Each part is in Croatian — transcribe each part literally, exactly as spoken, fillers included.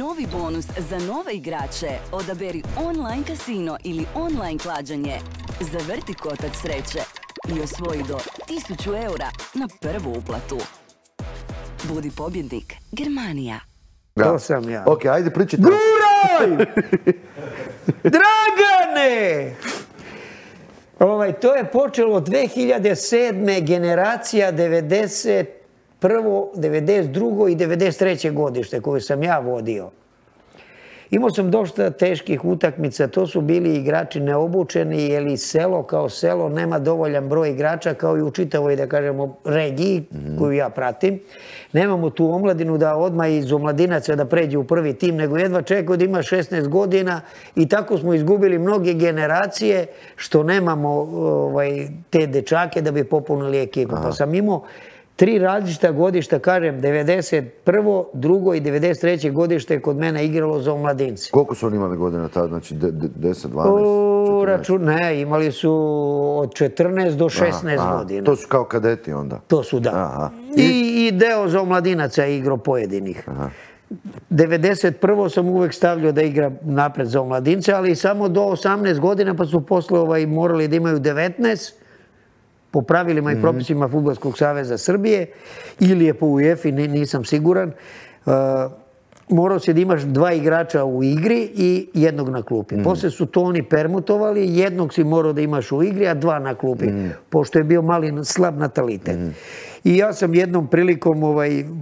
Novi bonus za nove igrače. Odaberi online kasino ili online klađenje. Zavrti kotač sreće i osvoji do tisuću eura na prvu uplatu. Budi pobjednik. Germanija. To sam ja. Ok, ajde pričajte. Guraj! Dragane! Ovaj, to je počelo dve hiljade sedme generacija devedeset prvo, devedeset drugo i devedeset treće godište koju sam ja vodio. Imao sam dosta teških utakmica, to su bili igrači neobučeni, jer selo kao selo nema dovoljan broj igrača kao i u čitavoj, da kažemo, regiji koju ja pratim. Nemamo tu omladinu da odmah iz omladinaca da pređe u prvi tim, nego jedva čeka da ima šesnaest godina i tako smo izgubili mnoge generacije što nemamo te dečake da bi popunili ekipu. Pa sam imao tri različita godišta, kažem, devedeset prvo, drugo i devedeset treće godište je kod mene igralo za omladince. Koliko su oni imali godina tada? Znači deset, dvanaest? Ne, imali su od četrnaest do šesnaest godina. To su kao kadeti onda? To su, da. I deo za omladinaca je igrao pojedinih. devedeset prvo sam uvek stavljao da igra napred za omladince, ali samo do osamnaest godina, pa su posle morali da imaju devetnaest, po pravilima i propisima Fudbalskog saveza Srbije, ili je po U E F I, nisam siguran, morao si da imaš dva igrača u igri i jednog na klupi. Posle su to oni permutovali, jednog si morao da imaš u igri, a dva na klupi, pošto je bio mali slab natalitet. I ja sam jednom prilikom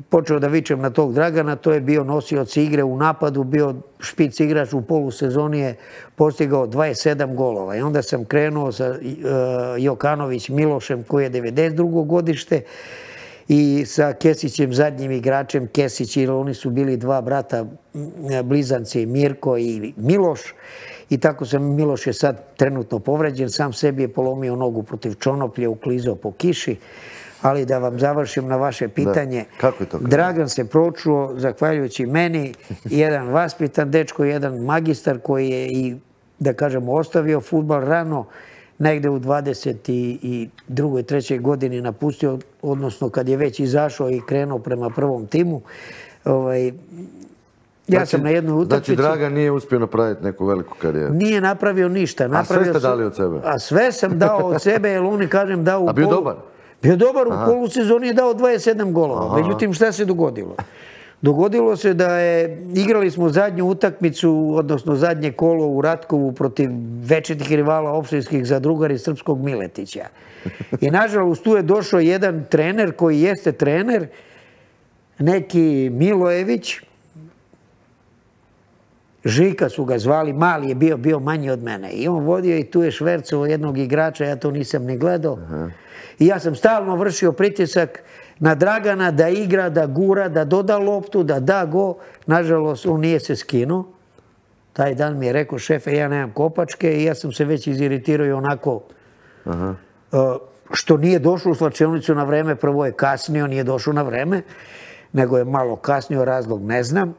počeo da vičem na tog Dragana, to je bio nosioc igre u napadu, bio špic igrač u polusezoni, je postigao dvadeset sedam golova. I onda sam krenuo sa Jokanović Milošem, koji je devedeset drugo godište, i sa Kesićem, zadnjim igračem. Kesić, jer oni su bili dva brata blizanci, Mirko i Miloš. I tako sam, Miloš je sad trenutno povređen, sam sebi je polomio nogu protiv Čonoplje, uklizao po kiši. Ali da vam završim na vaše pitanje, Dragan se pročuo, zahvaljujući meni, jedan vaspitan dečko, jedan magistar koji je i, da kažemo, ostavio fudbal rano, negde u dvadeset drugoj trećoj godini napustio, odnosno kad je već izašao i krenuo prema prvom timu. Ja sam na jednoj utakmici... Znači, Dragan nije uspio napraviti neku veliku karijeru? Nije napravio ništa. A sve ste dali od sebe? A sve sam dao od sebe, jer oni, kažem, dao u polu... A bio dobar? Bio dobar, u polusezoni je dao dvadeset sedam golova. Međutim, šta se dogodilo? Dogodilo se da je, igrali smo zadnju utakmicu, odnosno zadnje kolo u Ratkovu protiv večitih rivala opštinskih zadrugari Srpskog Miletića. I nažalost tu je došao jedan trener koji jeste trener, neki Milojević, Žika su ga zvali, mali je bio, bio manji od mene. I on vodio i tu je švercovo jednog igrača, ja to nisam ni gledao. I ja sam stalno vršio pritisak na Dragana da igra, da gura, da doda loptu, da da go. Nažalost, on nije se skinuo. Taj dan mi je rekao, šefe, ja nemam kopačke, i ja sam se već iziritirao i onako što nije došao u slačionicu na vreme. Prvo je kasnio, nije došao na vreme, nego je malo kasnio, razlog ne znam.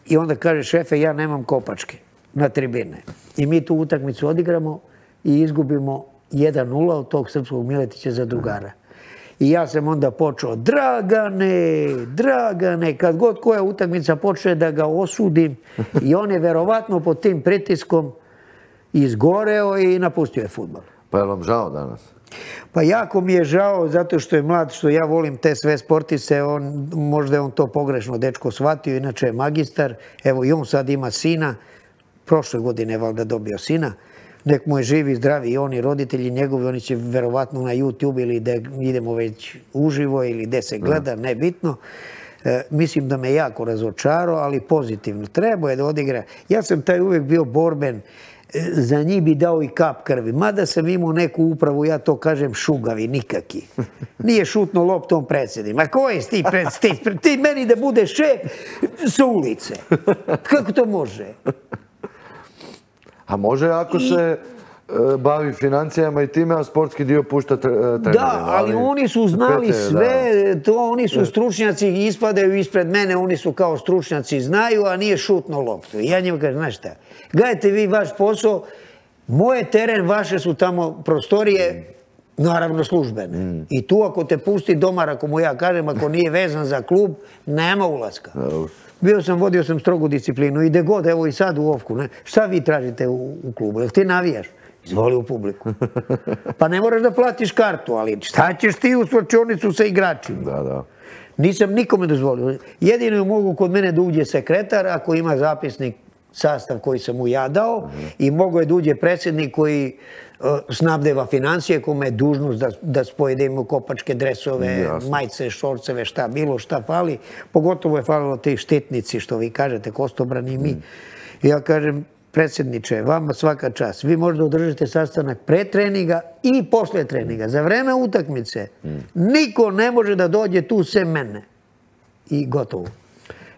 I onda kaže, šefe, ja nemam kopačke na tribine. I mi tu utakmicu odigramo i izgubimo jedan nula od tog Srpskog Miletića za drugara. I ja sam onda počeo, Dragane, Dragane, kad god koja utakmica počne da ga osudim, i on je verovatno pod tim pritiskom izgoreo i napustio je fudbal. Pa je vam žao danas? Pa jako mi je žao, zato što je mlad, što ja volim te sve sportiste, možda je on to pogrešno dečko shvatio, inače je magistar, evo i on sad ima sina, prošle godine je valjda dobio sina, nek mu je živi, zdravi, i oni roditelji njegovi, oni će verovatno na YouTube ili da idemo već uživo ili gde se gleda, nebitno. Mislim da me jako razočarao, ali pozitivno. Treba je da odigra. Ja sam taj uvek bio borben, za njih bi dao i kap krvi. Mada sam imao neku upravu, ja to kažem, šugavi, nikaki. Nije šutno loptom predsjedim. Ma ko je ti predsjedim? Ti meni da budeš šef sa ulice. Kako to može? A može ako se bavi financijama i time, a sportski dio pušta trenerima. Da, ali oni su znali sve, to oni su stručnjaci, ispadaju ispred mene, oni su kao stručnjaci, znaju, a nije šutno loptu. I ja njima kažem, znaš šta, gledajte vi vaš posao, moje teren, vaše su tamo prostorije, Naravno službene. I tu ako te pusti domar, ako mu ja kažem, ako nije vezan za klub, nema ulaska. Bio sam, vodio sam strogu disciplinu i gde god, evo i sad u Ofku. Šta vi tražite u klubu? Jel ti navijaš? Izvoli u publiku. Pa ne moraš da platiš kartu, ali šta ćeš ti u slačionicu sa igračima? Da, da. Nisam nikome dozvolio. Jedino mogu kod mene da uđe sekretar ako ima zapisnik sastav koji sam mu ja dao i mogo je da uđe predsjednik koji snabdeva financije, kome je dužnost da spojedimo kopačke dresove, majice, šorceve, šta, bilo šta fali. Pogotovo je falilo te štetnici, što vi kažete, Kostobrani i mi. Ja kažem, predsjedniče, vama svaka čast. Vi možda održite sastanak pre treninga i posle treninga. Za vreme utakmice niko ne može da dođe tu sem mene. I gotovo.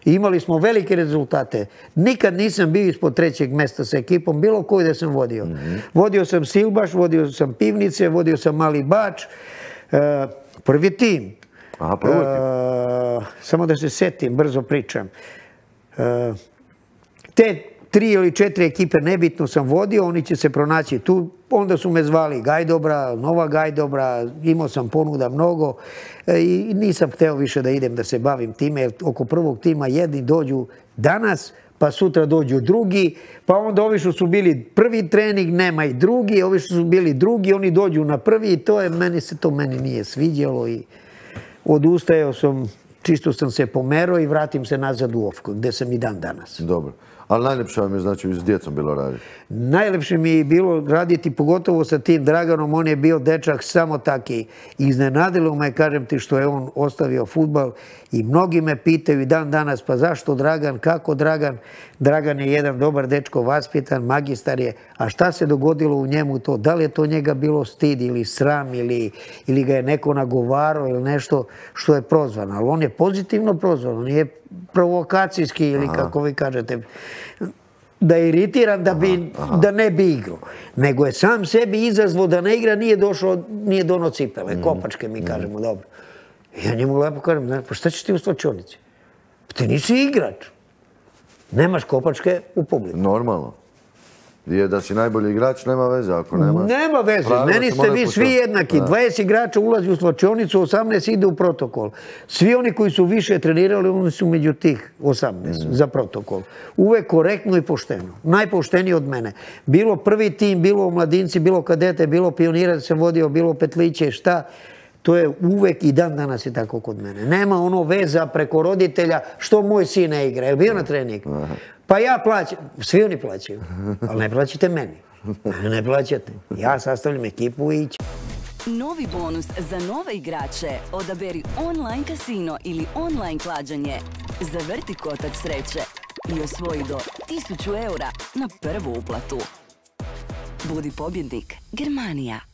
Imali smo velike rezultate. Nikad nisam bio ispod trećeg mesta sa ekipom, bilo koji da sam vodio. Vodio sam Silbaš, vodio sam Pivnice, vodio sam Mali Bač, prvi tim. Aha, prvi tim. Samo da se setim, brzo pričam. Te tri ili četiri ekipe nebitno sam vodio, oni će se pronaći tu. Onda su me zvali Gajdobra, Nova Gajdobra, imao sam ponuda mnogo i nisam hteo više da idem da se bavim time, jer oko prvog tima jedni dođu danas, pa sutra dođu drugi, pa onda ovi što su bili prvi trening, nema i drugi, ovi što su bili drugi, oni dođu na prvi i to je, meni se to meni nije sviđalo i odustajao sam, čisto sam se pomerao i vratim se nazad u Ofku, gde sam i dan danas. Dobro. Ali najljepše vam je, znači, s djecom bilo raditi? Najljepše mi je bilo raditi, pogotovo sa tim Draganom. On je bio dečak samo taki. Iznenadilo me, kažem ti, što je on ostavio fudbal. I mnogi me pitaju i dan danas, pa zašto Dragan, kako Dragan? Dragan je jedan dobar dečko, vaspitan, magistar je. A šta se dogodilo u njemu to? Da li je to njega bilo stid ili sram ili ga je neko nagovarao ili nešto što je prozvan? Ali on je pozitivno prozvan, on je provokacijski ili kako vi kažete, da je iritiran da ne bi igrao. Nego je sam sebi izazvao da ne igra, nije dono cipele, kopačke mi kažemo, dobro. Ja njemu lepo kažem, pa šta ćeš ti u slačionici? Pa ti nisi igrač. Nemaš kopačke u publiku. Normalno. Je da si najbolji igrač, nema veze ako nema. Nema veze, meni ste vi svi jednaki. dvadeset igrača ulazi u slačionicu, osamnaest ide u protokol. Svi oni koji su više trenirali, oni su među tih osamnaest za protokol. Uvek korektno i pošteno. Najpošteniji od mene. Bilo prvi tim, bilo mladinci, bilo kadete, bilo pionira da sam vodio, bilo petliće, šta. To je uvek i dan danas je tako kod mene. Nema ono veza preko roditelja što moj sin ne igra. Je li bio na trening? Pa ja plaćam. Svi oni plaćaju. Ali ne plaćate meni. Ne plaćate. Ja sastavljam ekipu i ići. Novi bonus za nove igrače. Odaberi online kasino ili online klađenje. Zavrti kotač sreće i osvoji do tisuću eura na prvu uplatu. Budi pobjednik. Germanija.